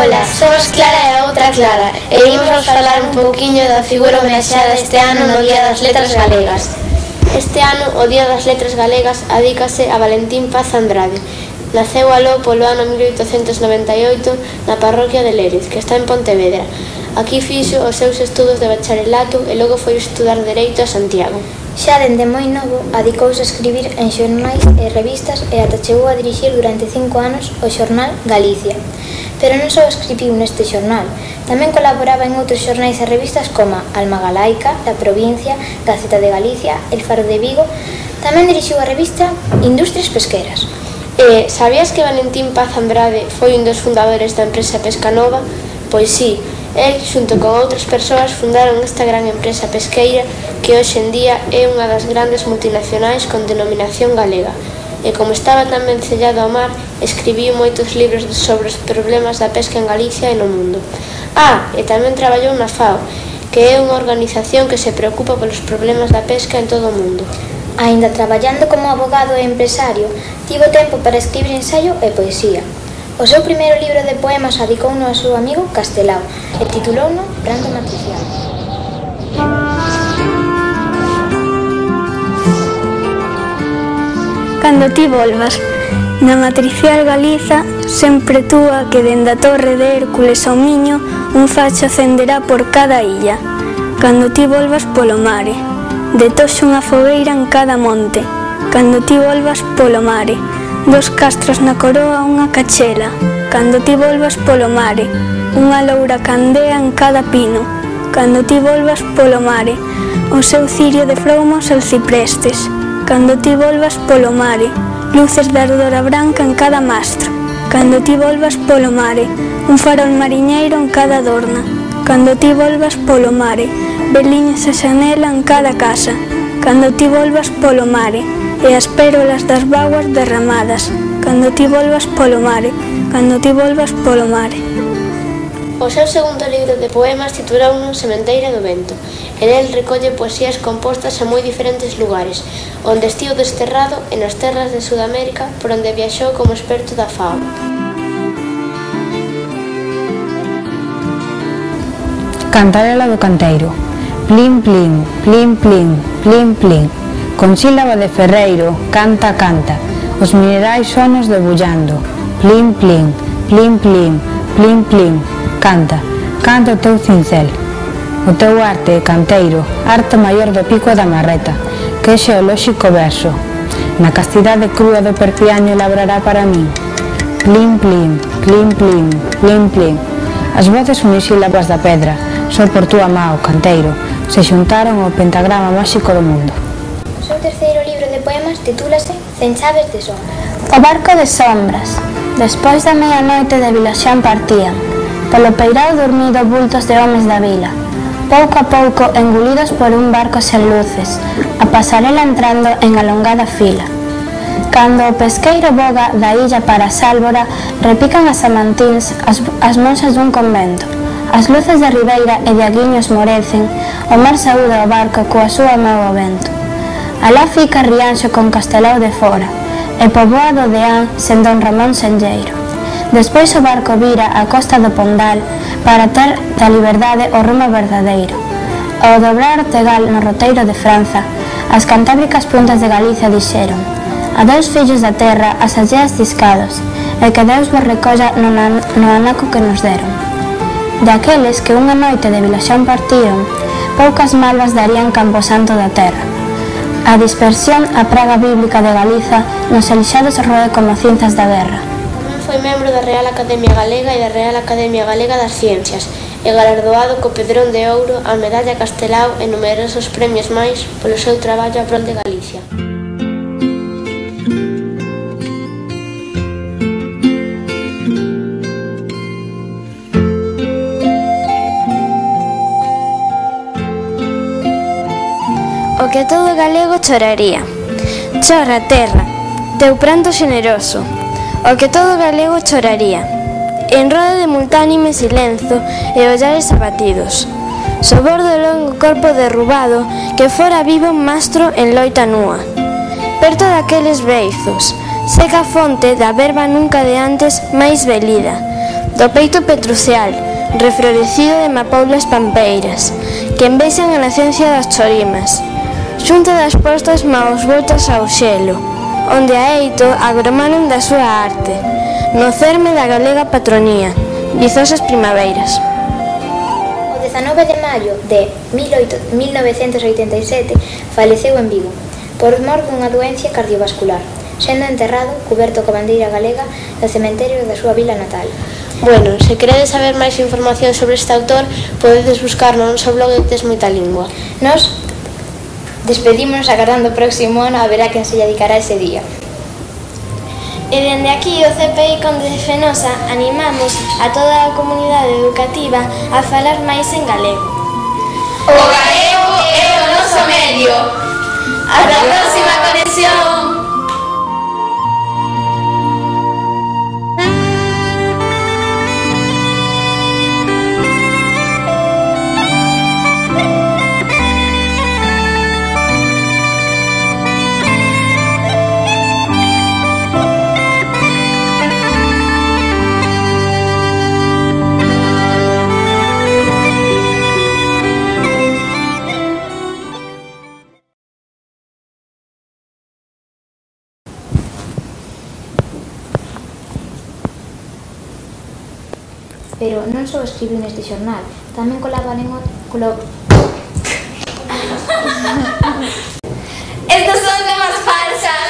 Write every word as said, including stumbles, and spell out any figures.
Ola, somos Clara e a outra Clara e imos falar un pouquiño da figura homenaxeada este ano no Día das Letras Galegas. Este ano o Día das Letras Galegas adícase a Valentín Paz Andrade. Naceu aló polo ano mil oitocentos noventa e oito na parroquia de Lérez, que está en Pontevedra. Aquí fixo os seus estudos de bacharelato e logo foi estudar Dereito a Santiago. Xa dende moi novo adicouse a escribir en xornais e revistas e ata chegou a dirixir durante cinco anos o xornal Galicia. Pero non só escribiu neste xornal, tamén colaboraba en outros xornais e revistas como Alma Galaica, La Provincia, Gaceta de Galicia, El Faro de Vigo. Tamén dirixiu a revista Industrias Pesqueras. E sabías que Valentín Paz Andrade foi un dos fundadores da empresa Pescanova? Pois sí, el, xunto con outras persoas, fundaron esta gran empresa pesqueira que hoxe en día é unha das grandes multinacionais con denominación galega. E como estaba tan vencellado ao mar, escribiu moitos libros sobre os problemas da pesca en Galicia e no mundo. Ah, e tamén traballou na FAO, que é unha organización que se preocupa polos problemas da pesca en todo o mundo. Aínda traballando como abogado e empresario, tivo tempo para escribir ensaio e poesía. O seu primeiro libro de poemas adicouno ao seu amigo Castelao e titulouno Brando Matricial. Cando ti volvas, na matricial Galiza, sempre túa que dende a torre de Hércules ao Miño un facho acenderá por cada illa. Cando ti volvas polo mare, de toxo unha fogueira en cada monte. Cando ti volvas polo mare, dos castros na coroa unha cachela. Cando ti volvas polo mare, unha loura candea en cada pino. Cando ti volvas polo mare, o seu cirio de fromos aos ciprestes. Cando ti volvas polo mare, luces de ardora branca en cada mastro. Cando ti volvas polo mare, un farol mariñeiro en cada adorna. Cando ti volvas polo mare, veliñas a xanela en cada casa. Cando ti volvas polo mare, e as pérolas das vaguas derramadas. Cando ti volvas polo mare, cando ti volvas polo mare. O seu segundo libro de poemas titulouno Sementeira do Vento. En el recolle poesías compostas a moi diferentes lugares, onde estivo desterrado e nas terras de Sudamérica, por onde viaxou como experto da FAO. Cantarela do Canteiro. Plin, plin, plin, plin, plin, plin. Con sílaba de ferreiro, canta, canta, os minerais sonos debullando. Plin, plin, plin, plin, plin, plin, canta, canta o teu cincel. O teu arte, canteiro, arte maior do pico e da marreta, que é xeolóxico verso. Na castidade crúa do perpiaño labrará para min. Plin, plin, plin, plin, plin, plin. As voces unisílabas da pedra, só por túa mao, canteiro, se xuntaron ao pentagrama máxico do mundo. O seu terceiro libro de poemas titúlase Cen chaves de sombra. O barco de sombras. Despois da meia-noite de Vilaxán partían, polo peirao dormido bultos de homes da vila, pouco a pouco engulidos por un barco sen luces, a pasarela entrando en alongada fila. Cando o pesqueiro boga da illa para Sálvora, repican as amantíns as, as monxas dun convento. As luces da ribeira e de aguiños morecen, o mar saúda o barco coa súa mau ao vento. Alá fica Rianxo con Castelao de fora, e poboado de An sen Don Ramón Senlleiro. Despois o barco vira a costa do Pondal para ter da liberdade o rumo verdadeiro. Ao dobrar o Tegal no roteiro de Franza, as cantábricas puntas de Galicia dixeron: adeus fillos da terra, as alleas discados, e que Deus vos recolla no, no anaco que nos deron. De aqueles que unha noite de Vilaxán partiron, poucas malvas darían camposanto da terra. A dispersión, a praga bíblica de Galiza, nos elixados roe como cinzas da guerra. Tamén foi membro da Real Academia Galega e da Real Academia Galega das Ciencias e galardoado co Pedrón de Ouro, a Medalla Castelao e numerosos premios máis polo seu traballo a prol de Galicia. O que todo galego choraría. Chora, terra, teu pranto xeneroso. O que todo galego choraría. En roda de multánime silenzo e ollares abatidos. Sobor do longo corpo derrubado que fora vivo mastro en loita núa. Perto daqueles beizos, seca fonte da verba nunca de antes máis velida. do peito petrucial, reflorecido de mapoulas pampeiras, que envexan a nacencia das chorimas, xunto das postas maos voltas ao xelo, onde a eito agromanen da súa arte, no cerme da galega patronía, vizosas primaveiras. O dezanove de maio de mil novecentos oitenta e sete faleceu en Vigo, por mor dunha doencia cardiovascular, sendo enterrado, cuberto coa bandeira galega, no cementerio da súa vila natal. Bueno, se queredes saber máis información sobre este autor, podedes buscar no noso blog de Tes Moita Lingua. Nos despedímonos agardando o próximo ano a ver a quen se lle dedicará ese día. E dende aquí o C P I Conde de Fenosa animamos a toda a comunidade educativa a falar máis en galego. O galego é o noso medio. Ata a próxima conexión. Pero non só escribiu neste xornal, tamén colaboran en outro... Colo... Estos son temas falsas.